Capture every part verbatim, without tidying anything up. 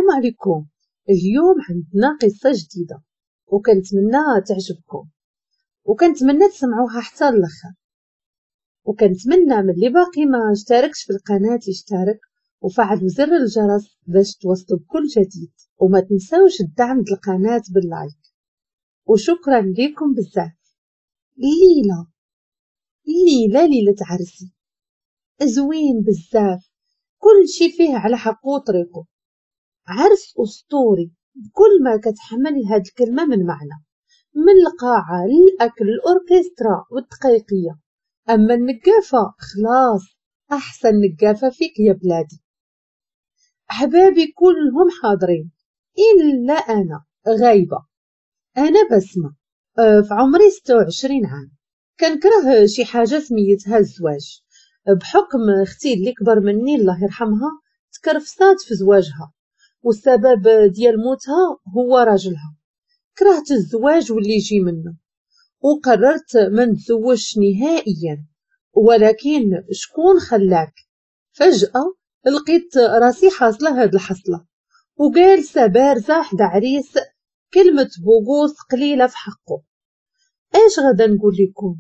السلام عليكم. اليوم عندنا قصة جديدة وكنتمنى تعجبكم وكنتمنى تسمعوها حتى الاخر، وكنتمنى من اللي باقي ما اشتركش في القناة يشترك وفعلوا زر الجرس باش توصلوا بكل جديد، وما تنساوش الدعم القناة باللايك، وشكرا لكم بزاف. ليلى ليلى ليلة عرسي زوين بزاف، كل شي فيه على حقه وطريقه، عرس أسطوري بكل ما كتحمل هاد الكلمة من معنى، من القاعة للأكل الأوركسترا والدقيقية. أما النقافة خلاص، أحسن نقافة فيك يا بلادي. أحبابي كلهم حاضرين إلا أنا غايبة. أنا بسمة، في عمري ستة وعشرين عام، كنكره شي حاجة سميتها الزواج، بحكم اختي اللي كبر مني الله يرحمها تكرفصات في زواجها، والسبب ديال موتها هو راجلها. كرهت الزواج واللي يجي منه، وقررت ما نتزوجش نهائيا. ولكن شكون خلاك؟ فجأة لقيت راسي حاصلة هاد الحصلة وجالسة بارزة حدا عريس كلمة بوغوص قليلة في حقه. اش غادا نقول لكم؟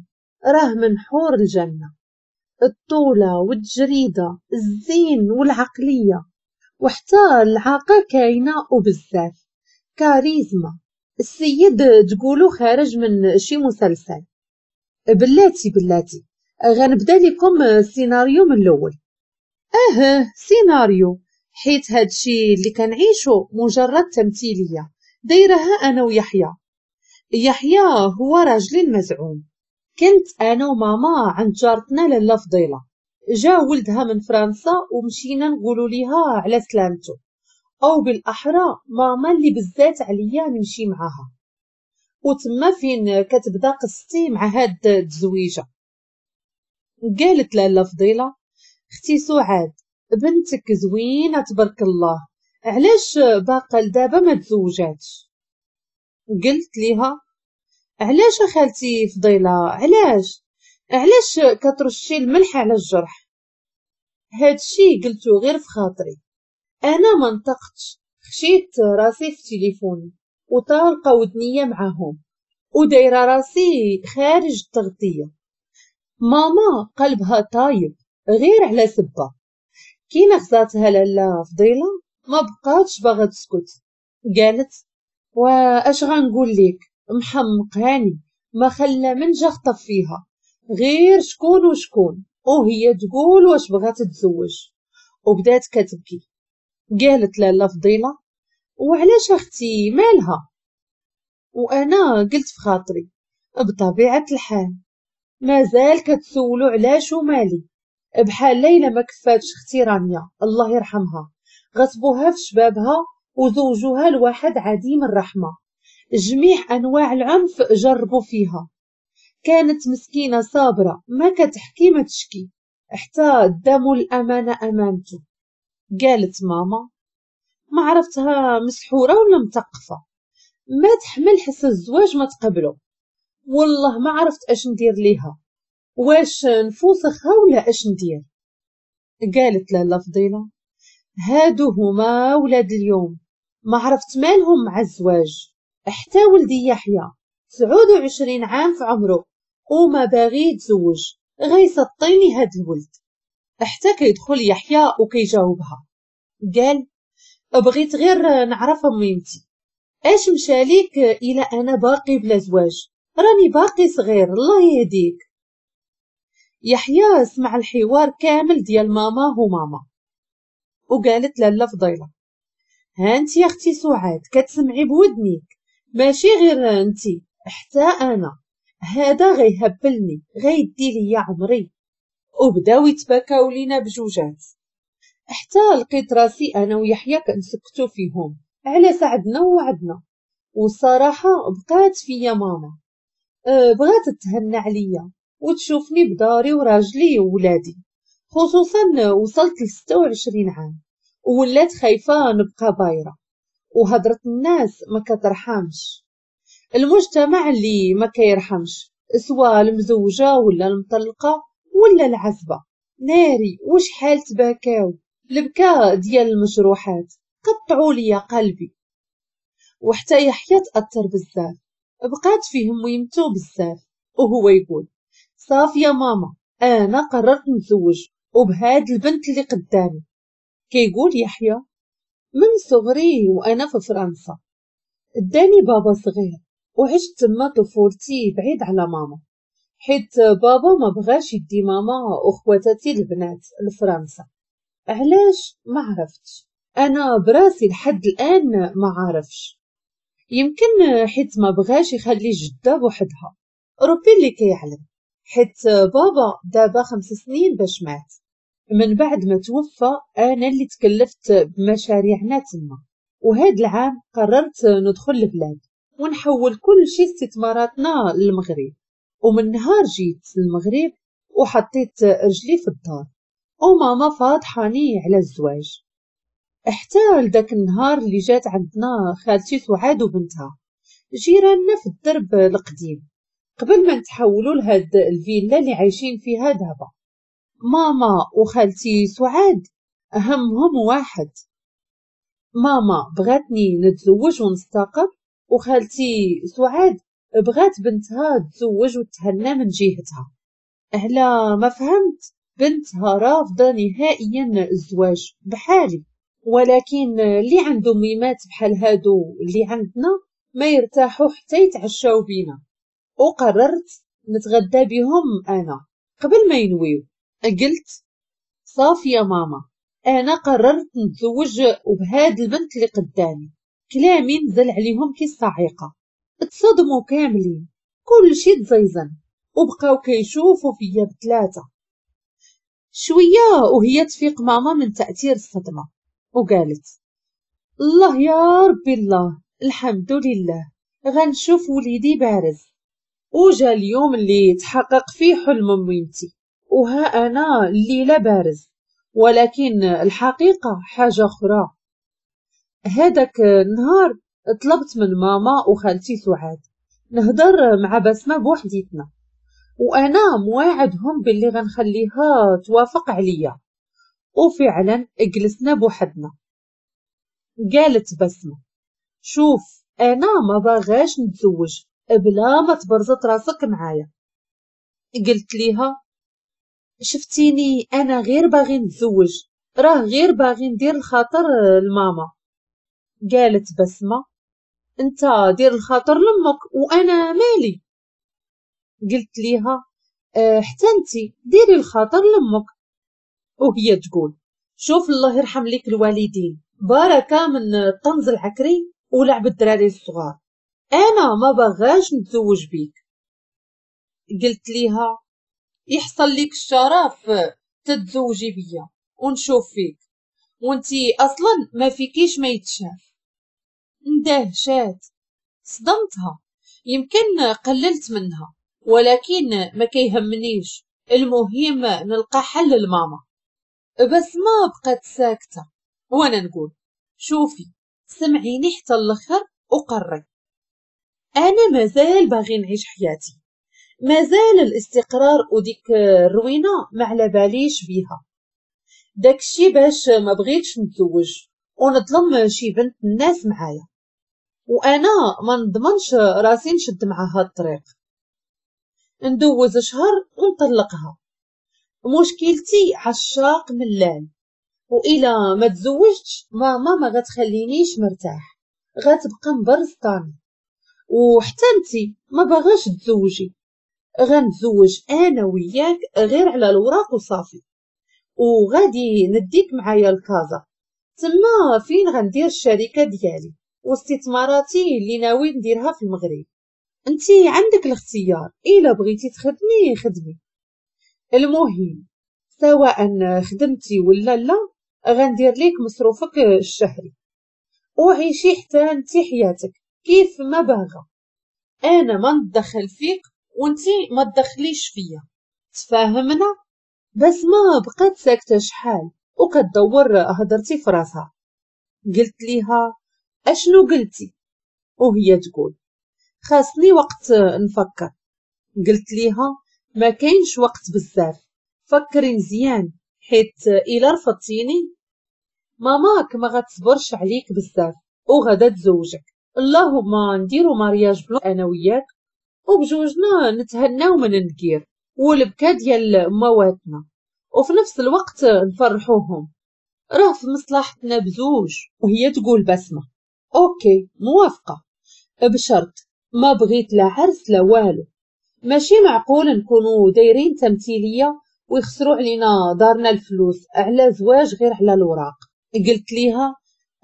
راه من حور الجنة، الطولة والتجريدة، الزين والعقلية، وحتى العاقة كاينة وبزاف، كاريزما. السيد تقولو خارج من شي مسلسل. بلاتي بلاتي غنبدا لكم السيناريو من الاول. اه سيناريو، حيت هادشي اللي كنعيشو مجرد تمثيلية دايرها انا ويحيى. يحيى هو راجلي المزعوم. كنت انا وماما عند جارتنا لاله فضيلة، جا ولدها من فرنسا ومشينا نقولوا ليها على سلامته، او بالاحرى ماما اللي بزات عليا نمشي معاها. وتما فين كتبدا قصتي مع هاد التزويجه. قالت لاله فضيلة: اختي سعاد بنتك زوينة تبارك الله، علاش باقا لدابا ما تزوجاتش؟ قلت ليها: علاش خالتي فضيلة، علاش علاش كترشي الملح على الجرح؟ هادشي قلتو غير في خاطري، انا ما نطقتش، خشيت راسي في تليفوني وطالقه ودنيه معاهم ودايره راسي خارج التغطية. ماما قلبها طايب غير على سبه، كي نغزاتها لاله فضيلة ما بقاتش باغا تسكت. قالت: واش غنقول لك، محمقاني، ما خلى من جا خطف فيها غير شكون وشكون، وهي تقول واش بغات تتزوج، وبدات كتبكي. قالت لاله فضيلة: وعلاش اختي مالها؟ وانا قلت في خاطري بطبيعة الحال مازال كتسولو علاش ومالي، بحال ليلى ما كفاتش اختي رانيا الله يرحمها، غصبوها في شبابها وزوجوها لواحد عديم الرحمة، جميع انواع العنف جربوا فيها. كانت مسكينه صابره ما كتحكي ما تشكي حتى داموا الامانة امانته. قالت ماما: ما عرفتها مسحوره ولا مثقفة، ما تحمل حس الزواج ما تقبله، والله ما عرفت اش ندير ليها، واش نفوسخها ولا اش ندير؟ قالت لاله فضيلة: هادو هما ولاد اليوم، ما عرفت مالهم مع الزواج، حتى ولدي يحيى تسعود وعشرين عام في عمره وما باغي يتزوج، غيسطيني هاد الولد. حتى كيدخل يحيى وكيجاوبها، قال: بغيت غير نعرف ميمتي اش مشاليك الى انا باقي بلا زواج، راني باقي صغير الله يهديك. يحيى سمع الحوار كامل ديال ماما وماما، وقالت لاله فضيلة: ها انت يا اختي سعاد كتسمعي بودنيك، ماشي غير انتي حتى انا، هذا غيهبلني غيدي ليا عمري. وبداو يتباكاو لينا بجوجات، حتى لقيت راسي انا ويحيى كنسكتو فيهم على سعدنا ووعدنا. والصراحة بقات فيا ماما، أه بغات تهنى عليا وتشوفني بداري وراجلي وولادي، خصوصا وصلت لستة وعشرين عام وولات خايفة نبقى بايره، وهضره الناس ما كترحمش، المجتمع اللي ما كيرحمش سواء المزوجه ولا المطلقة ولا العزبة. ناري وشحال تباكاو البكا ديال المجروحات. قطعوا لي قلبي. وحتى يحيى تأثر بزاف، بقات فيه ميمتو بزاف، وهو يقول صافي يا ماما انا قررت نتزوج وبهاد البنت اللي قدامي. كيقول يحيى من صغري وانا في فرنسا، اداني بابا صغير وعشت تما طفولتي بعيد على ماما، حيت بابا ما بغاش يدي ماما وخواتاتي البنات لفرنسا. علاش ما عرفتش، انا براسي لحد الان ما عارفش، يمكن حيت ما بغاش يخلي جده بوحدها، ربي اللي كيعلم. حيت بابا دابا خمس سنين باش مات، من بعد ما توفى انا اللي تكلفت بمشاريعنا تما. وهاد العام قررت ندخل البلاد ونحول كل شي استثماراتنا للمغرب. ومن نهار جيت للمغرب وحطيت رجلي في الدار وماما فاضحاني على الزواج، حتى لذاك النهار اللي جات عندنا خالتي سعاد وبنتها جيراننا في الدرب القديم قبل ما نتحولوا لهاد الفيلا اللي عايشين فيها دابا. ماما وخالتي سعاد همهم واحد، ماما بغاتني نتزوج ونستقر، وخالتي سعاد بغات بنتها تزوج وتهنى من جهتها. على ما فهمت بنتها رافضه نهائيا الزواج بحالي، ولكن اللي عنده ميمات بحال هادو اللي عندنا ما يرتاحوا حتى يتعشاو بينا. وقررت نتغدى بهم انا قبل ما ينويو. قلت صافي يا ماما انا قررت نتزوج وبهاد البنت اللي قدامي. كلامي نزل عليهم كي الصاعقة، اتصدموا كاملين، كل شي تزيزن، وبقاو كيشوفوا فيا بثلاثة. شوية وهي تفيق ماما من تاثير الصدمة وقالت الله يا ربي الله، الحمد لله غنشوف وليدي بارز. وجا اليوم اللي تحقق فيه حلم ميمتي، وها انا الليلة بارز، ولكن الحقيقة حاجة اخرى. هذاك النهار طلبت من ماما وخالتي سعاد نهضر مع بسمه بوحديتنا، وانا مواعدهم باللي غنخليها توافق عليا. وفعلا جلسنا بوحدنا. قالت بسمه شوف انا ما باغاش نتزوج بلا ما تبرزط راسك معايا. قلت ليها شفتيني انا غير باغي نتزوج، راه غير باغي ندير الخاطر لماما. قالت بسمه انت دير الخاطر لامك وانا مالي. قلت ليها اه حتى انت ديري الخاطر لامك. وهي تقول شوف الله يرحم ليك الوالدين، بركة من الطنز العكري ولعب الدراري الصغار، انا ما باغاش نتزوج بيك. قلت ليها يحصل ليك الشرف تتزوجي بيا ونشوف فيك، وانتي اصلا ما فيكيش ما يتشاف. اندهشات، صدمتها، يمكن قللت منها، ولكن ما كيهمنيش، المهم نلقى حل لماما. بس ما بقت ساكته وانا نقول شوفي سمعيني حتى الاخر وقري، انا مازال باغي نعيش حياتي، مازال الاستقرار وديك الروينه ما على باليش بيها، داكشي باش ما بغيتش نتزوج ونظلم شي بنت الناس معايا، وانا ما نضمنش راسي نشد معاها الطريق، ندوز شهر ونطلقها. مشكلتي عشاق ملال، والى ما تزوجتش ماما ما غتخلينيش مرتاح، غتبقى مبرزطاني، وحتى انتي ما باغاش تزوجي، غنتزوج انا وياك غير على الوراق وصافي، وغادي نديك معايا لكازا، تما فين غندير الشركة ديالي واستثماراتي اللي ناوي نديرها في المغرب. انتي عندك الاختيار، الا بغيتي تخدمي خدمي، المهم سواء خدمتي ولا لا غندير ليك مصروفك الشهري، وعيشي حتى انتي حياتك كيف ما باغا، انا ما ندخل فيك وانتي ما تدخليش فيا، تفاهمنا؟ بس ما بقات ساكته شحال وكتدور هضرتي في راسها. قلت ليها اشنو قلتي؟ وهي تقول خاصني وقت نفكر. قلت ليها ما كاينش وقت بزاف، فكري مزيان، حيت الا رفضتيني. ماماك ما غتصبرش عليك بزاف وغدا تزوجك، اللهم نديرو mariage blanc انا وياك وبجوجنا نتهناو من النكير والبكا ديال مواتنا، وفي نفس الوقت نفرحوهم، راه في مصلحتنا بزوج. وهي تقول بسمة OK موافقة، بشرط ما بغيت لا عرس لا والو، ماشي معقول نكونوا دايرين تمثيلية ويخسروا علينا دارنا الفلوس على زواج غير على الوراق. قلت ليها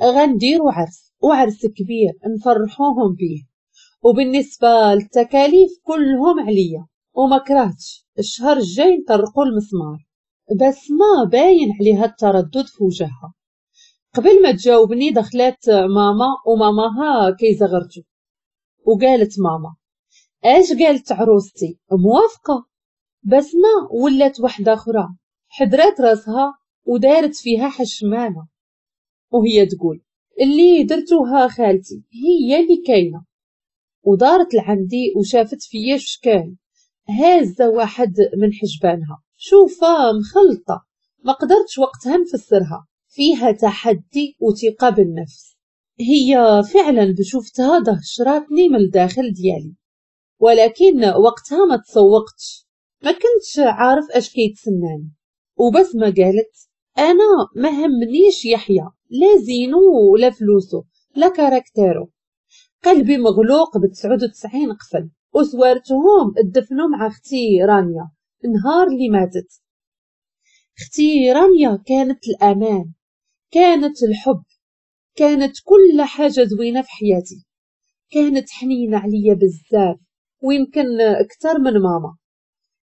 غنديروا عرس، وعرس كبير نفرحوهم بيه، وبالنسبة للتكاليف كلهم عليا، وما كرهتش الشهر الجاي نطرقوا المسمار. بس ما باين عليها التردد في وجهها. قبل ما تجاوبني دخلت ماما وماماها كيزغرتو، وقالت ماما اش قالت عروستي موافقة؟ بسمة ولات وحدة أخرى، حدرات راسها ودارت فيها حشمانة، وهي تقول اللي درتوها خالتي هي اللي كاينة. ودارت لعندي وشافت فيا شكال هازة واحد من حجبانها، شوفة مخلطة ما قدرتش وقتها نفسرها، فيها تحدي وثقة بالنفس. هي فعلا بشوفتها دهشراتني من الداخل ديالي، ولكن وقتها ما تسوقتش، ما كنتش عارف اش كيتسناني. وبسمة قالت انا ما همنيش يحيى، لا زينو ولا فلوسو لا caractère و، قلبي مغلوق بتسعود وتسعين قفل، وسوارتهم دفنوا مع اختي رانيا النهار اللي ماتت. اختي رانيا كانت الامان، كانت الحب، كانت كل حاجة زوينة في حياتي، كانت حنينه عليا بزاف ويمكن اكثر من ماما.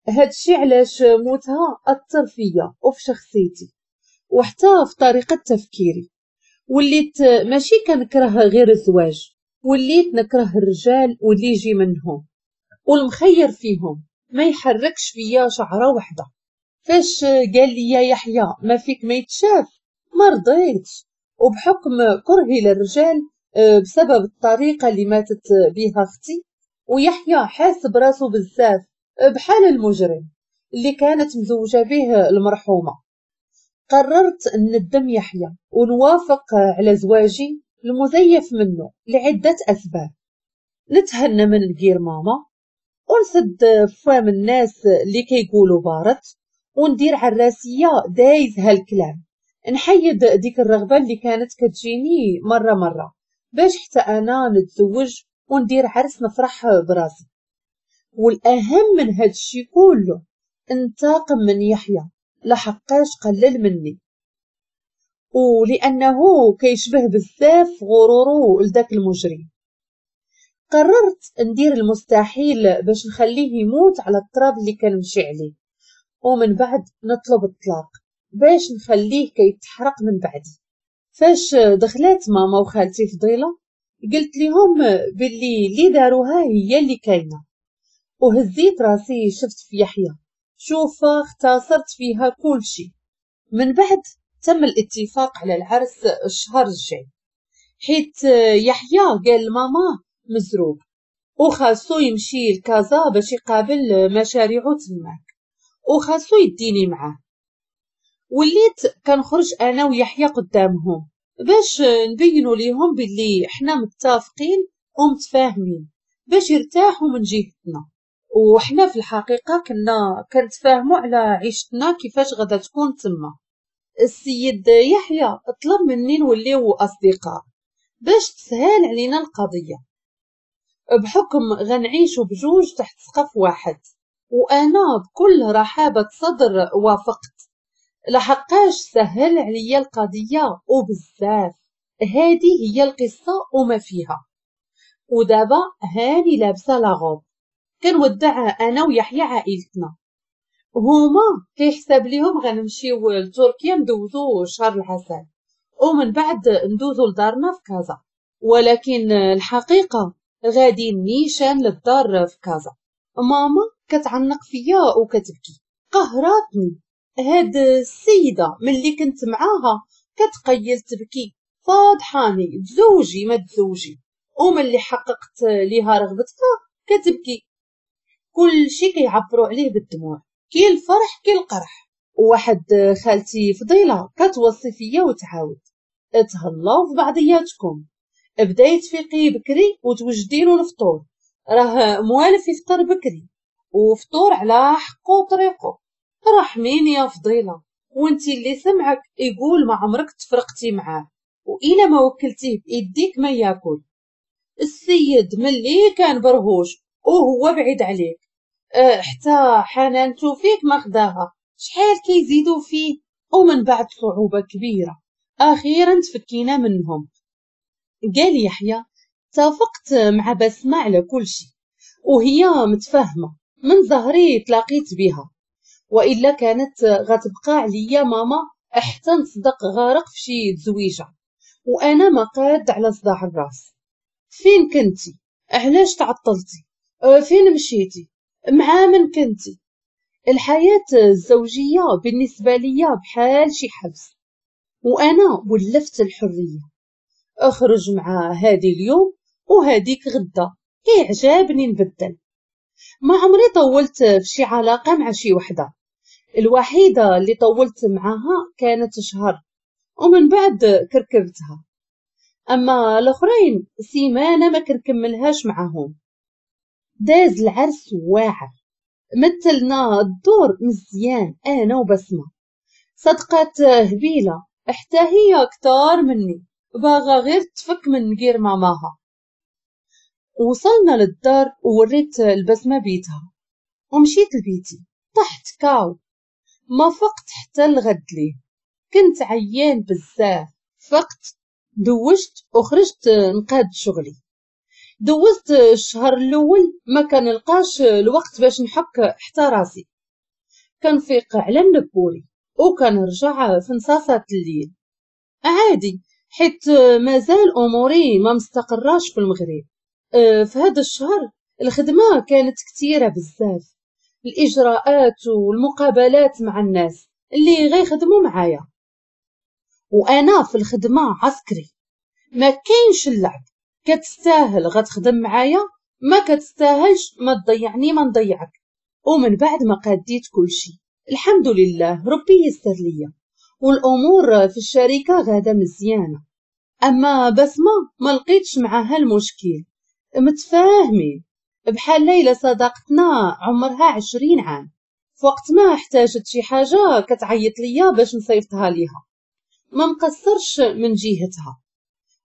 هادشي علاش موتها اثر فيا وفي شخصيتي وحتى في طريقه تفكيري. وليت ماشي كنكره غير الزواج، وليت نكره الرجال واللي يجي منهم، والمخير فيهم ما يحركش فيا شعره وحده. فاش قال لي يا يحيى ما فيك ما يتشاف ما رضيتش، وبحكم كرهي للرجال بسبب الطريقة اللي ماتت بها اختي، ويحيى حاسب راسو بزاف بحال المجرم اللي كانت مزوجه به المرحومة، قررت ندم يحيى ونوافق على زواجي المزيف منه لعدة اسباب. نتهنى من نقير ماما، ونسد فم الناس اللي كيقولوا بارت، وندير عراسيه دايز هالكلام، نحيد ديك الرغبة اللي كانت كتجيني مرة مرة باش حتى انا نتزوج وندير عرس نفرح براسي. والاهم من هادشي كله انتقم من يحيى لحقاش قلل مني، ولانه كيشبه بزاف غروره لذاك المجرم. قررت ندير المستحيل باش نخليه يموت على التراب اللي كنمشي عليه، ومن بعد نطلب الطلاق باش نخليه كيتحرق من بعدي. فاش دخلات ماما وخالتي فضيلة قلت لهم باللي اللي داروها هي اللي كاينه، وهزيت راسي شفت في يحيى شوفه اختصرت فيها كل شيء. من بعد تم الاتفاق على العرس الشهر الجاي، حيت يحيى قال لماما مزروب وخاصو يمشي لكازا باش يقابل مشاريعو تماك، وخاصو يديني معاه. وليت كنخرج انا ويحيى قدامهم باش نبينوا ليهم باللي حنا متفقين ومتفاهمين باش يرتاحوا من جهتنا، وحنا في الحقيقة كنا كنتفاهموا على عيشتنا كيفاش غادا تكون تما. السيد يحيى طلب مني نوليو اصدقاء باش تسهل علينا القضية، بحكم غنعيشوا بجوج تحت سقف واحد، وانا بكل رحابه صدر وافقت لحقاش سهل عليا القضية وبزاف. هذه هي القصة وما فيها. ودابا هاني لابسه la robe كنودع انا ويحيى عائلتنا، هما كيحسب ليهم غنمشيو لتركيا ندوزو شهر العسل ومن بعد ندوزو لدارنا في كازا، ولكن الحقيقة غادي نيشان للدار في كازا. ماما كتعنق فيا وكتبكي، قهراتني هاد السيدة ملي كنت معاها كتقيل تبكي، فاضحاني تزوجي ما تزوجي، وملي حققت ليها رغبتها كتبكي. كل شي كيعبروا عليه بالدموع، كي الفرح كي القرح. وواحد خالتي فضيلة كتوصي فيا وتعاود اتهلاو في بعضياتكم، بداي تفيقي بكري وتوجدي له الفطور، راه موالف يفطر بكري وفطور على حقه وطريقه. رحمين يا فضيلة، وانتي اللي سمعك يقول ما عمرك تفرقتي معاه، وإلا ما وكلتيه بإيديك ما ياكل. السيد ملي كان برهوش وهو بعيد عليك، أه حتى حنانتو فيك ما خداها، شحال كيزيدوا فيه. ومن بعد صعوبة كبيرة أخيرا تفكينا منهم. قال يحيى اتفقت مع بسمة على كل شيء وهي متفاهمة، من زهري تلاقيت بها، وإلا كانت غتبقى عليا ماما حتى نصدق غارق في شي تزويجة، وأنا ما قاد على صداع الراس. فين كنتي؟ علاش تعطلتي؟ فين مشيتي؟ مع من كنتي؟ الحياة الزوجية بالنسبة ليا بحال شي حبس، وأنا ولفت الحرية، أخرج مع هادي اليوم وهاديك غدا، كيعجبني نبدل. ما عمري طولت في شي علاقة مع شي وحدة، الوحيدة اللي طولت معاها كانت شهر ومن بعد كركبتها، أما الأخرين سيمانة ما كنكملهاش معاهم. داز العرس واعر، مثلنا الدور مزيان أنا وبسمة، صدقات هبيلة حتى هي كتار مني، باغا غير تفك من غير ماماها. وصلنا للدار ووريت البسمة بيتها ومشيت لبيتي، طحت KO، ما فقت حتى الغد ليه، كنت عيان بزاف. فقت دوشت وخرجت نقاد شغلي. دوزت الشهر الاول ما كنلقاش الوقت باش نحك حتى راسي، كنفيق على النبوري وكنرجع في نصاصات الليل عادي، حيت مازال اموري ما مستقراش في المغرب. في هذا الشهر الخدمة كانت كثيرة بزاف، الاجراءات والمقابلات مع الناس اللي غيخدموا معايا، وانا في الخدمة عسكري، ما كاينش اللعب، كتستاهل غتخدم معايا، ما كتستاهلش ما تضيعني ما نضيعك. ومن بعد ما قاديت كل شيء الحمد لله ربي يسر ليا، والامور في الشركة غاده مزيانه. اما بسمه ما لقيتش معاها المشكل، متفاهمين بحال ليلى صداقتنا عمرها عشرين عام، في وقت ما احتاجت شي حاجة كتعيط ليا باش نصيفطها ليها، ما مقصرش من جهتها،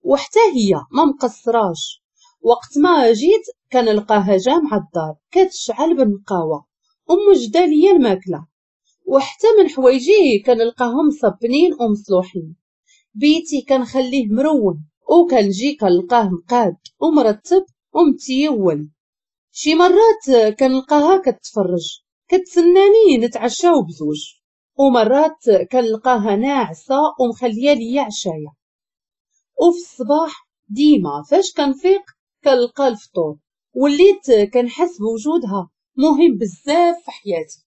وحتى هي ما مقصراش. وقت ما جيت كنلقاها جامعه الدار كتشعل بالنقاوه وموجده ليا الماكلة، وحتى من حوايجي كنلقاهم مصبنين ومصلوحين. بيتي كنخليه مرون وكنجي كنلقاه مقاد ومرتب ومتيول. شي مرات كنلقاها كتفرج كتسناني نتعشاو بزوج، ومرات كنلقاها ناعسه ومخليه ليا عشايه. وفي الصباح ديما فاش كنفيق كنلقى الفطور، وليت كنحس بوجودها مهم بزاف في حياتي.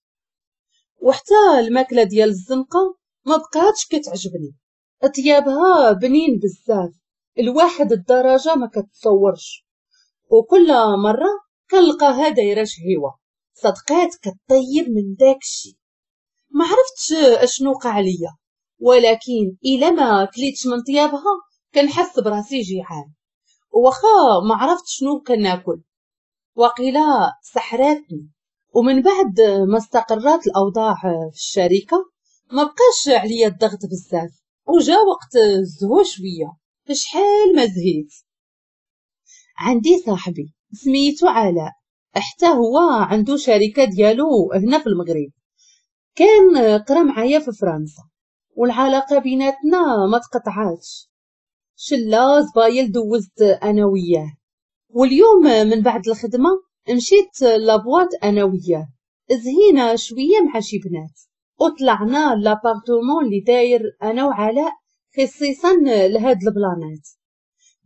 وحتى الماكلة ديال الزنقة ما بقاتش كتعجبني، طيابها بنين بزاف الواحد الدرجة ما كتصورش، وكل مرة كنلقاها دايرة شهيوه، صدقات كطيب من داكشي. ما عرفتش اشنو وقع ليا، ولكن الا ما كليتش من طيابها كنحس براسي جيعان، وخا ما عرفت شنو كناكل، وقيلا سحراتني. ومن بعد ما استقرات الاوضاع في الشركة ما بقاش عليا الضغط بزاف، وجا وقت الزهو شوية، شحال ما زهيت. عندي صاحبي سميتو علاء، حتى هو عنده شركة ديالو هنا في المغرب، كان قرا معايا في فرنسا، والعلاقة بيناتنا ما تقطعاتش، شله زبايل دوزت انا وياه. واليوم من بعد الخدمة مشيت la boîte انا وياه، زهينا شوية مع شي بنات، وطلعنا l'appartement اللي داير انا وعلاء خصيصا لهاد البلانات.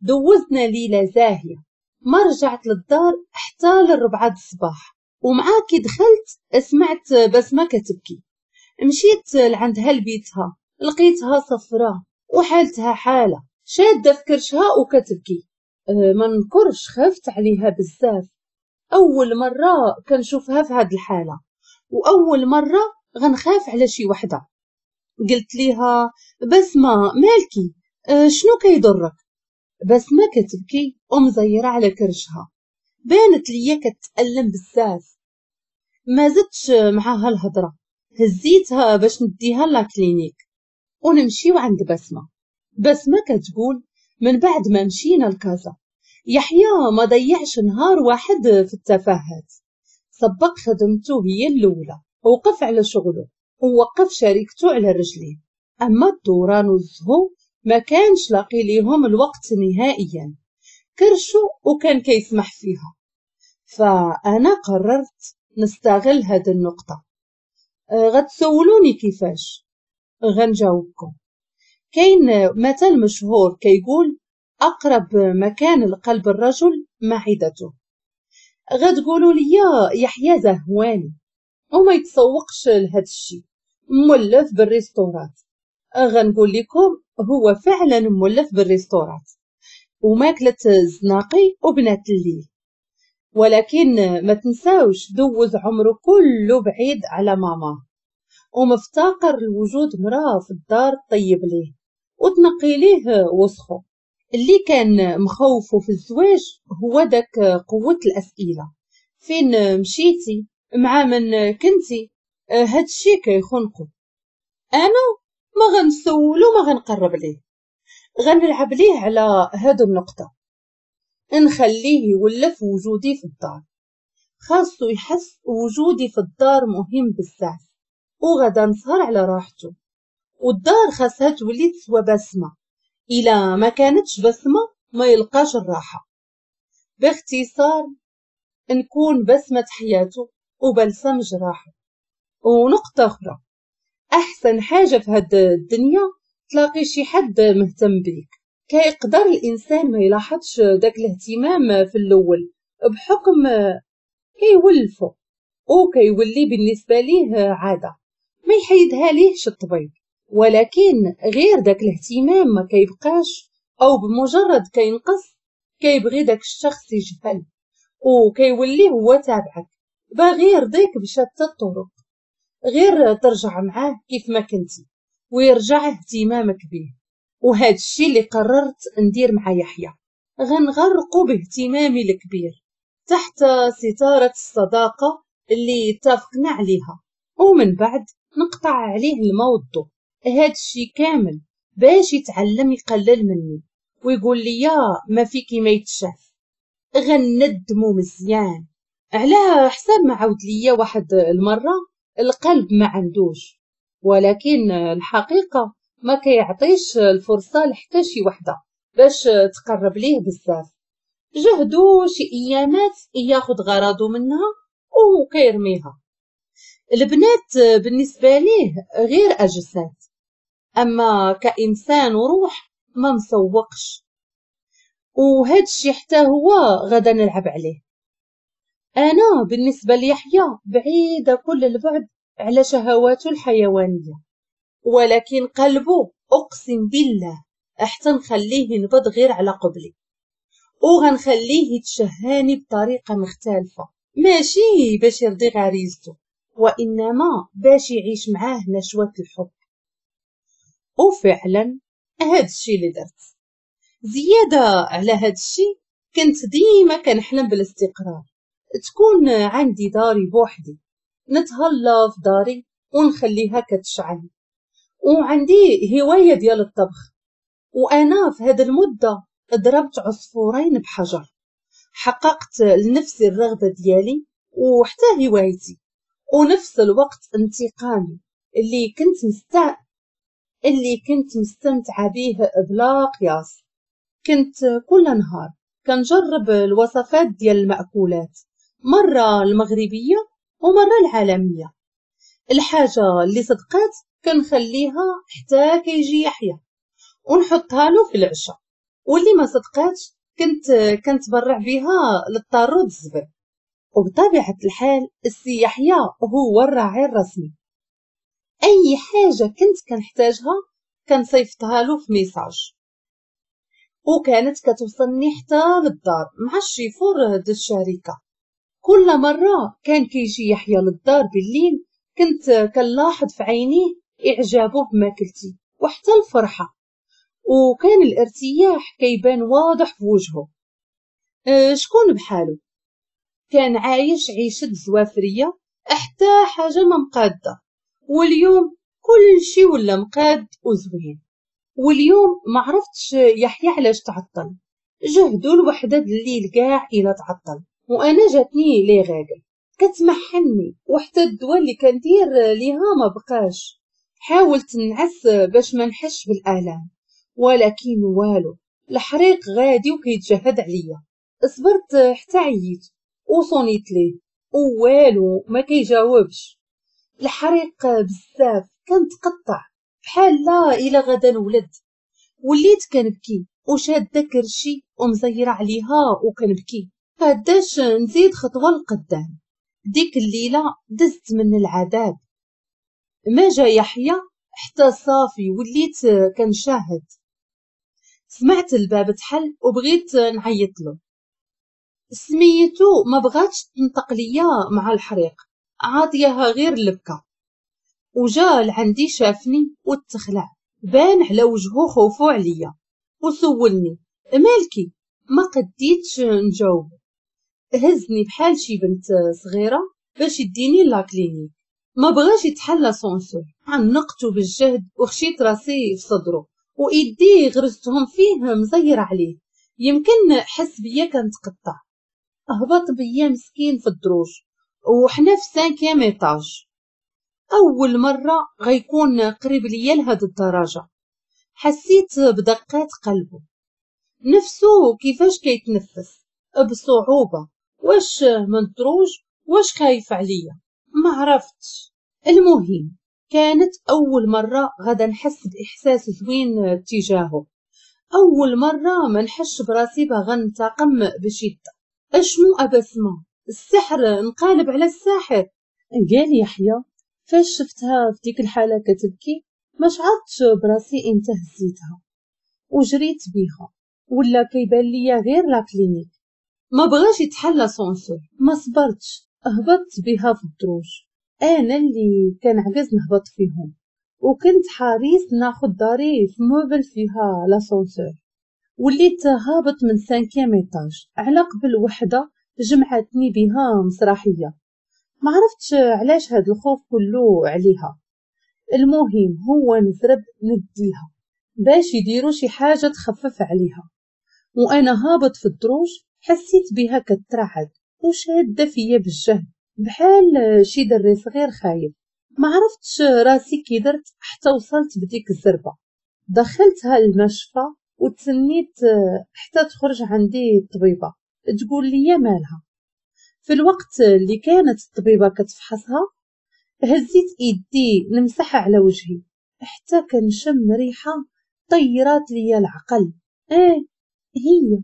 دوزنا ليلة زاهيه، ما رجعت للدار حتى للربعة الصباح. ومع كي دخلت سمعت بسمه كتبكي، مشيت لعندها لبيتها لقيتها صفراء وحالتها حاله، شاده في كرشها وكتبكي. ما نكرش خفت عليها بزاف، اول مرة كنشوفها في هاد الحالة، واول مرة غنخاف على شي وحده. قلت ليها بسمه مالكي، أه شنو كيضرك؟ بسمة كتبكي ومزيرة على كرشها، بانت ليا كتألم بزاف. ما زدتش معاها الهضرة، هزيتها باش نديها la clinique ونمشيو عند بسمة. بسمة كتقول من بعد ما مشينا لكازا يحيى ما ضيعش نهار واحد في التفاهات، سبق خدمته هي الاولى، وقف على شغله ووقف شركته على رجليه. اما الدوران والزهو ما كانش لاقي ليهم الوقت نهائيا، كرشو وكان كيسمح فيها. فانا قررت نستغل هذه النقطة. غتسولوني كيفاش؟ غنجاوبكم. كاين مثل مشهور كيقول اقرب مكان لقلب الرجل معدته. غتقولوا لي يحيى زهواني وما يتسوقش لهذا الشيء، مولف بال restaurant. غنقول لكم هو فعلا مولف بال restaurant وماكلة الزناقي وبنات الليل، ولكن ما تنساوش دوز عمره كله بعيد على ماما، ومفتقر لوجود مراه في الدار طيب ليه وتنقي ليه وسخو. اللي كان مخوفه في الزواج هو داك قوة الأسئلة، فين مشيتي، مع من كنتي، هادشي كيخنقو. انا ما غنسولو ما غنقرب ليه، غنلعب ليه على هاد النقطة، نخليه يولف وجودي في الدار. خاصو يحس وجودي في الدار مهم بزاف، وغدا نسهر على راحته. والدار خاصها تولي تسوى بسمة، إلا ما كانتش بسمة ما يلقاش الراحة. باختصار نكون بسمة حياته وبلسم جراحه. ونقطة أخرى، أحسن حاجة في هاد الدنيا تلاقي شي حد مهتم بيك. كيقدر الإنسان ما يلاحظش داك الاهتمام في الأول بحكم كيولفو وكيولي بالنسبة ليه عادة ما يحيدها ليهش الطبيب، ولكن غير داك الاهتمام ما كيبقاش، أو بمجرد كينقص كيبغي داك الشخص يجهل وكيولي هو تابعك، باغي يرضيك بشتى الطرق، غير ترجع معاه كيف ما كنتي ويرجع اهتمامك به. وهذا الشيء اللي قررت ندير مع يحيى، غنغرقو باهتمامي الكبير تحت ستارة الصداقة اللي اتفقنا عليها، ومن بعد نقطع عليه الموضوع. هذا الشيء كامل باش يتعلم يقلل مني ويقول لي يا ما فيكي ما يتشاف. غندمو مزيان على حساب ما عاود ليا واحد المرة، القلب ما عندوش، ولكن الحقيقة ما كيعطيش الفرصة لحتى شي وحدة باش تقرب ليه بزاف. جهدو شي ايامات ياخد غرضو منها وكيرميها. البنات بالنسبة ليه غير أجساد، أما كإنسان وروح ما مسوقش، وهاد الشي حتى هو غدا نلعب عليه. أنا بالنسبة ليحيى بعيدة كل البعد على شهواته الحيوانية، ولكن قلبه أقسم بالله حتى نخليه ينبض غير على قبلي، وغنخليه يتشهاني بطريقة مختلفة، ماشي باش يرضي غريزته، وإنما باش يعيش معاه نشوة الحب. وفعلا هاد الشي اللي درت. زيادة على هاد الشي كنت ديما كنحلم بالاستقرار، تكون عندي داري بوحدي، نتهلا في داري ونخليها كتشعل، وعندي هواية ديال الطبخ. وأنا في هاد المدة ضربت عصفورين بحجر، حققت لنفسي الرغبة ديالي وحتى هوايتي، ونفس الوقت انتقامي اللي كنت مستع اللي كنت مستمتعة به بلا قياس. كنت كل نهار كنجرب الوصفات ديال المأكولات، مرة المغربية ومرة العالمية. الحاجة اللي صدقات كنخليها حتى كيجي يحيى ونحطها له في العشاء، واللي ما صدقاتش كنت كنتبرع بها للطارود الزبل. وبطبيعة الحال السي يحيى هو الراعي الرسمي، اي حاجة كنت كنحتاجها كنصيفطها له في message، وكانت كتوصلني حتى للدار مع الشيفور ديال الشركة. كل مرة كان كيجي يحيى للدار بالليل كنت كنلاحظ في عينيه إعجابه بماكلتي وحتى الفرحة، وكان الارتياح كيبان واضح في وجهه. أه شكون بحاله؟ كان عايش عيشة زوافرية، حتى حاجة ما مقادة، واليوم كل شي ولا مقاد وزوين. واليوم ما عرفتش يحيى علاش تعطل، جهدو الوحدة الليل كاع إلى تعطل، وأنا جاتني les règles كتمحني، وحتى الدواء اللي كندير ليها ما بقاش. حاولت نعس باش ما نحش بالآلام، ولكن والو، الحريق غادي وكيتجهد عليا. صبرت حتى عييت وصونيت ليه ووالو ما كيجاوبش. الحريق بزاف كنتقطع بحال لا الى غدا نولد. وليت كنبكي وشاده كرشي ومزيره عليها وكنبكي، قداش نزيد خطوة لقدام. ديك الليلة دزت من العذاب. ما جا يحيى حتى صافي وليت كنشاهد. سمعت الباب تحل وبغيت نعيط له، سميتو ما بغاتش تنطق ليا مع الحريق، عاطياها غير البكا. وجا لعندي شافني وتخلع، بان على وجهه خوفو عليا وسولني مالكي. ما قديتش نجاوب، هزني بحال شي بنت صغيرة باش يديني la clinique. ما بغاش يتحل l'ascenseur، عنقته بالجهد وخشيت راسي في صدره وايدي غرستهم فيه مزيره عليه، يمكن حس بيا كنتقطع. هبط بيا مسكين في الدروج وحنا في cinquième étage. اول مرة غيكون قريب ليا لهاد الدرجة. حسيت بدقات قلبه، نفسه كيفاش كيتنفس بصعوبة، واش من الدروج واش خايف عليا ما عرفتش. المهم كانت اول مرة غدا نحس باحساس زوين تجاهه، اول مرة ما نحش براسي باغا ننتقم بشده. اشنو ابسمه السحر انقلب على الساحر. قال يحيى فاش شفتها في ديك الحالة كتبكي ما شعرتش براسي امتى هزيتها وجريت بيها، ولا كيبان ليا غير la clinique. ما بغاش يتحل l'ascenseur، ما صبرتش هبطت بها في الدروج، انا اللي كنعجز نهبط فيهم، وكنت حريص ناخد داري في immeuble فيها l'ascenseur. وليت هابط من cinquième étage على قبل وحده جمعتني بها مسرحية، ما عرفتش علاش هاد الخوف كله عليها. المهم هو نزرب نديها باش يديروا شي حاجة تخفف عليها. وانا هابط في الدروج حسيت بها كترعد وشاده فيا بالجهد بحال شي دري صغير خايف. ما عرفتش راسي كي درت حتى وصلت بديك الزربه. دخلتها المشفى وتسنيت حتى تخرج عندي الطبيبة تقول لي مالها. في الوقت اللي كانت الطبيبة كتفحصها هزيت ايدي نمسحها على وجهي حتى كنشم ريحه طيرات ليا العقل. ايه هي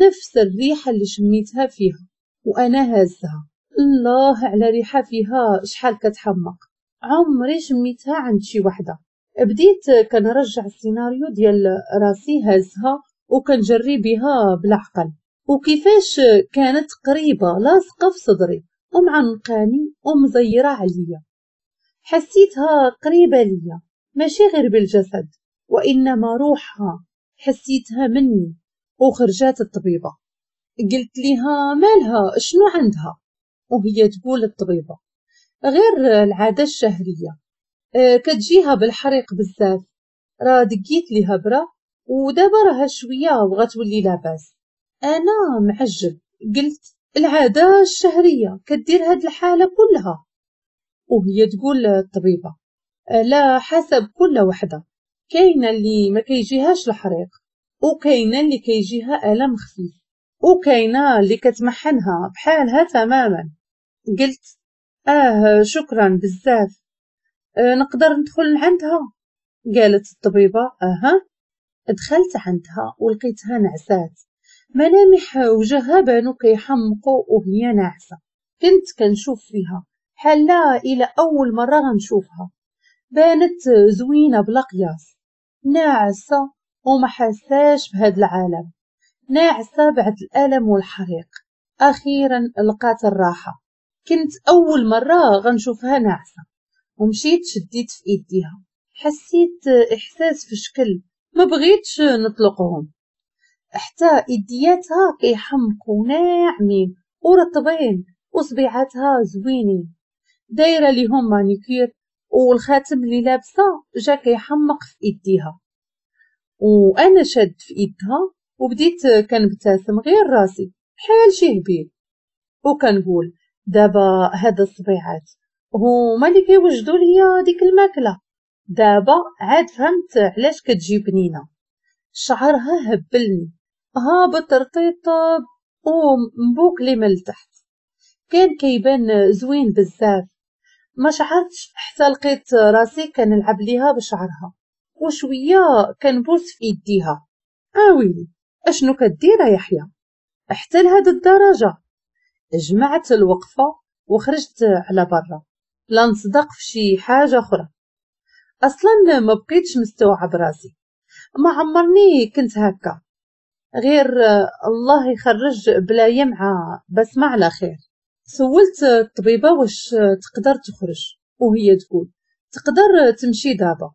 نفس الريحة اللي شميتها فيها وانا هازها. الله على ريحه فيها شحال كتحمق، عمري شميتها عند شي وحده. بديت كنرجع السيناريو ديال راسي هازها وكنجري بها بالعقل، وكيفاش كانت قريبه لاصقه في صدري ومعنقاني ومزيره عليا. حسيتها قريبه ليا ماشي غير بالجسد وانما روحها، حسيتها مني. وخرجات الطبيبة قلت لها مالها شنو عندها، وهي تقول الطبيبة غير العادة الشهرية كتجيها بالحريق بزاف، راه دقيت ليها برا ودابا راها شوية وغتولي لاباس. انا معجب قلت العادة الشهرية كدير هاد الحالة كلها، وهي تقول الطبيبة لا حسب كل وحده، كاينه اللي ما كيجيهاش الحريق، وكاينه اللي كيجيها الم خفيف، وكاينه اللي كتمحنها بحالها تماما. قلت اه شكرا بزاف، آه نقدر ندخل لعندها؟ قالت الطبيبة اها. دخلت عندها ولقيتها نعسات، ملامح وجهها بانو كيحمقوا وهي ناعسه. كنت كنشوف فيها بحال الى اول مرة غنشوفها، بانت زوينة بلا قياس، ناعسه وما حساش بهذا العالم، ناعسه بعد الالم والحريق. اخيرا لقات الراحة. كنت اول مرة غنشوفها ناعسه، ومشيت شديت في ايديها، حسيت احساس في شكل ما بغيتش نطلقهم. حتى يدياتها كيحمقوا ناعمين ورطبين وصبيعاتها زوينين، دايرة ليهم مانيكير، والخاتم اللي لابسه جا كيحمق في يديها. وانا شاد في يدها وبديت كنبتسم غير راسي بحال شي هبيل، وكنقول دابا هاد الصبيعات هما اللي كيوجدوا ليا ديك الماكلة. دابا عاد فهمت علاش كتجي بنينه. شعرها هبلني، هابط رطيطب ومبوكلي من التحت، كان كيبان زوين بزاف. ما شعرتش حتى لقيت راسي كنلعب ليها بشعرها وشوية كنبوس في يديها. اويلي اشنو كدير يا يحيى حتى لهاد الدرجة؟ جمعت الوقفة وخرجت على برا لا نصدق في شي حاجة اخرى. اصلا ما بقيتش مستوعب راسي، ما عمرني كنت هكا، غير الله يخرج بلايا مع بسمة على خير. سولت الطبيبة واش تقدر تخرج، وهي تقول تقدر تمشي دابا.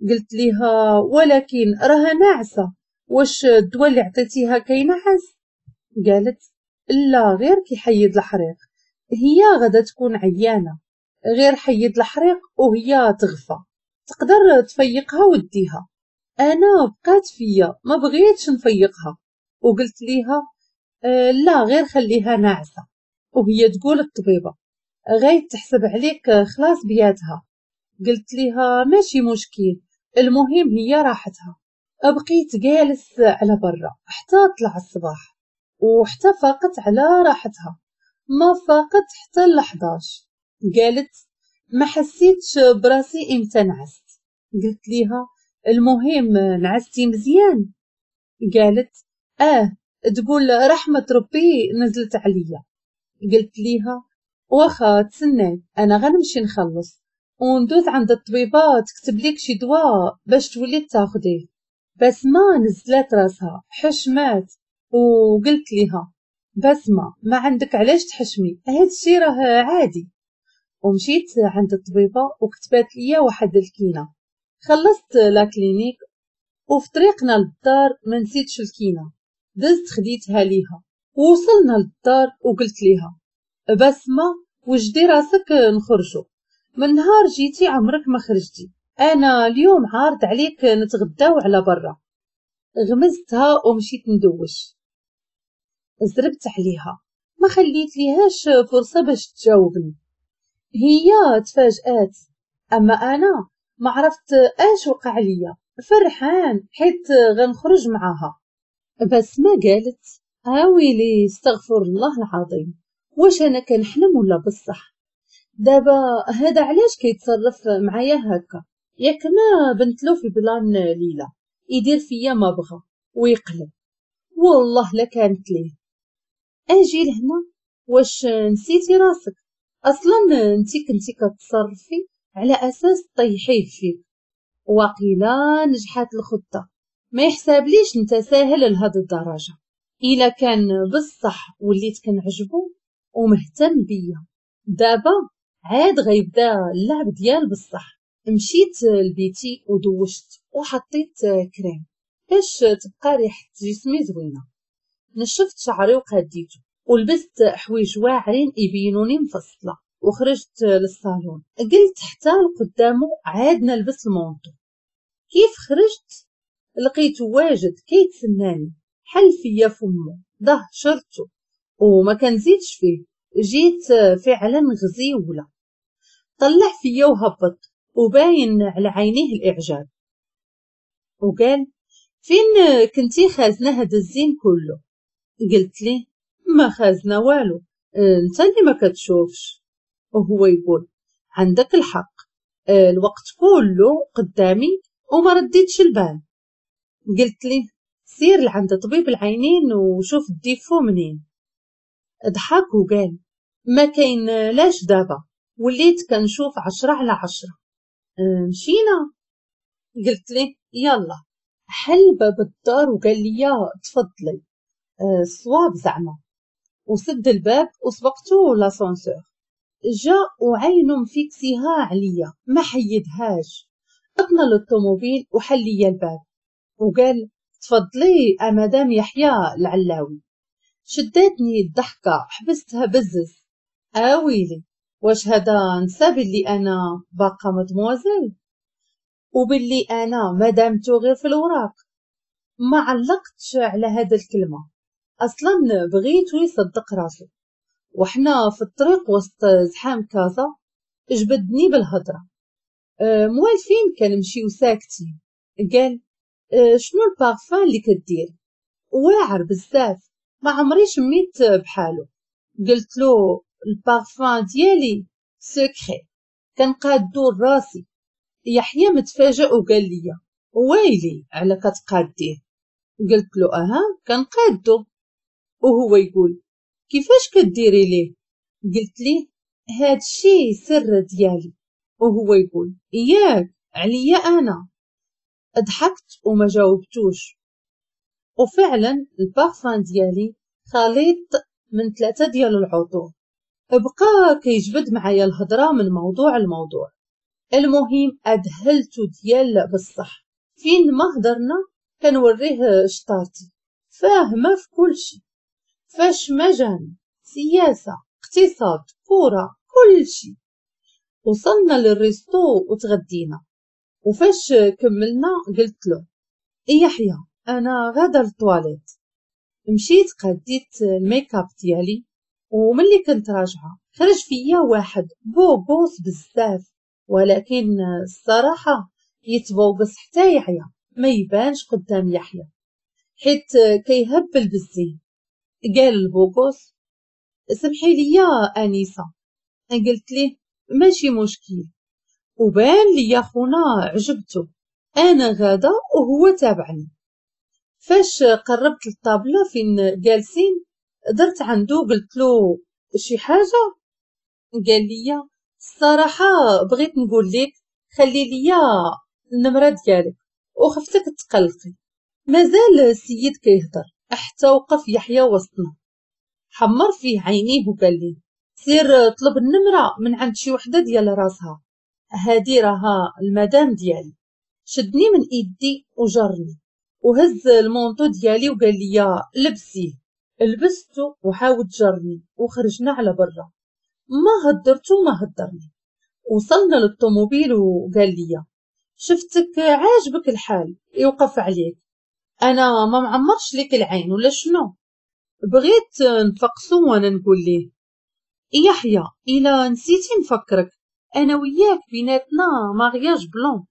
قلت ليها ولكن راها ناعسه، واش الدواء اللي عطيتيها كينعس؟ قالت لا غير كيحيد الحريق، هي غادا تكون عيانه، غير حيد الحريق وهي تغفى، تقدر تفيقها وديها. انا بقات فيا ما بغيتش نفيقها، وقلت ليها آه لا غير خليها ناعسه. وهي تقول الطبيبة غاي تحسب عليك خلاص بياتها. قلت ليها ماشي مشكل، المهم هي راحتها. بقيت جالس على برا حتى طلع الصباح، وحتى فاقت على راحتها، ما فاقت حتى لحداش. قالت ما حسيتش براسي امتى نعست. قلت ليها المهم نعستي مزيان؟ قالت اه، تقول رحمة ربي نزلت عليا. قلت ليها واخا تسناي انا غنمشي نخلص وندوز عند الطبيبة تكتب لك شي دواء باش تولي تاخديه. بسمة نزلت راسها حشمات، وقلت ليها بسمة ما عندك علاش تحشمي، هادشي راه عادي. ومشيت عند الطبيبة وكتبات ليا واحد الكينة. خلصت la clinique وفي طريقنا للدار ما نسيتش الكينة، دزت خديتها ليها. ووصلنا للدار وقلت ليها بسمة وجدي راسك نخرجو، من نهار جيتي عمرك ما خرجتي، انا اليوم عارض عليك نتغداو على برا. غمزتها ومشيت ندوش، زربت عليها ما خليت ليهاش فرصة باش تجاوبني. هي تفاجآت، اما انا ما عرفت اش وقع ليا، فرحان حيت غنخرج معاها. بس ما قالت اويلي استغفر الله العظيم، واش انا كنحلم ولا بصح؟ دابا هذا علاش كيتصرف معايا هكا؟ ياك ما بنتلو في plan ليلى يدير فيا ما بغى ويقلب، والله لا كانت ليه. اجي لهنا واش نسيتي راسك؟ اصلا انتي كنتي كتصرفي على اساس طيحيه فيك، وقيلا نجحات الخطة. ما يحسابليش انت ساهل لهاد الدرجة. الا كان بصح وليت كنعجبو ومهتم بيا، دابا عاد غيبدا اللعب ديال بصح. مشيت لبيتي ودوشت وحطيت كريم باش تبقى ريحه جسمي زوينة. نشفت شعري وقاديته ولبست حوايج واعرين يبينوني مفصلة، وخرجت للصالون. قلت حتى لقدامه عاد نلبس ال manteau. كيف خرجت لقيته واجد كيتسناني، حل فيا فمو ضه شرته وما كنزيدش فيه. جيت فعلا غزيوله، طلع فيا وهبط وباين على عينيه الاعجاب، وقال فين كنتي خازنه هذا الزين كله؟ قلت ليه ما خازنه والو، انت اللي ما كتشوفش. وهو يقول عندك الحق، الوقت كله قدامي وما رديتش البال. قلت ليه سير لعند طبيب العينين وشوف ال défaut منين. ضحك وقال ما كاين لاش دابا، وليت كنشوف عشرة على عشرة. مشينا؟ قلت ليه يلا. حل باب الدار وقال لي تفضلي، الصواب زعما، وسد الباب وسبقتو l'ascenseur. جا وعينو مفيكسيها عليا ما حيدهاش. طلعنا للطوموبيل وحل ليا الباب وقال تفضلي مدام يحيى العلاوي. شدتني الضحكة، حبستها بزز. اويلي واش هذا نسى باللي انا باقا مدموزيل وباللي انا مدامتو غير في الوراق؟ ما علقتش على هذا الكلمة، اصلا بغيتو يصدق راسو. وحنا في الطريق وسط زحام كازا جبدني بالهضره. أه موالفين كنمشيو ساكتين. قال أه شنو البارفان اللي كدير؟ واعر بزاف، ما عمري شميت بحالو. قلت له البارفان ديالي secret، كنقادو راسي. يحيى متفاجئ وقال لي ويلي على كتقاديه؟ قلت له اها كنقادو. وهو يقول كيفاش كديري ليه؟ قلت ليه هادشي سر ديالي. وهو يقول اياك عليا انا. ضحكت وما جاوبتوش. وفعلا البارفان ديالي خليط من ثلاثة ديال العطور. بقى كيجبد معايا الهضرة من موضوع لموضوع. المهم ادهلتو ديال بصح، فين ما هضرنا كنوريه شطارتي، فاهمه في كل شيء، فاش ما جاني سياسة اقتصاد كورة كل شيء. وصلنا لل resto وتغدينا، وفاش كملنا قلت له يحيى انا غادا للطواليت. مشيت قديت الميك اب ديالي، وملي كنت راجعه خرج فيا واحد beau gosse بزاف، ولكن الصراحة يتبوقص حتى يعيا ما يبانش قدام يحيى حيت كيهبل بالزين. قال ال beau gosse سمحي لي انيسة. قلت ليه ماشي مشكل. وبان لي خونا عجبته، انا غادا وهو تابعني. فاش قربت للطابله فين جالسين درت عنده قلت له شي حاجة. قال لي الصراحة بغيت نقول لك خلي لي النمرة ديالك وخفتك تقلقي. مازال السيد كيهضر حتى وقف يحيى وسطنا، حمر فيه عينيه وقال لي سير طلب النمرة من عند شي وحده ديال راسها، هادي راها المدام ديالي. شدني من ايدي وجرني وهز ال manteau ديالي وقال لي لبسيه. لبسته وحاول جرني وخرجنا على برا، ما هدرتو ما هدرني. وصلنا للطوموبيل وقال لي شفتك عاجبك الحال يوقف عليك، انا ما معمرش لك العين ولا شنو؟ بغيت نفقسو وانا نقول ليه يحيى الى نسيتي نفكرك انا وياك بيناتنا mariage blanc،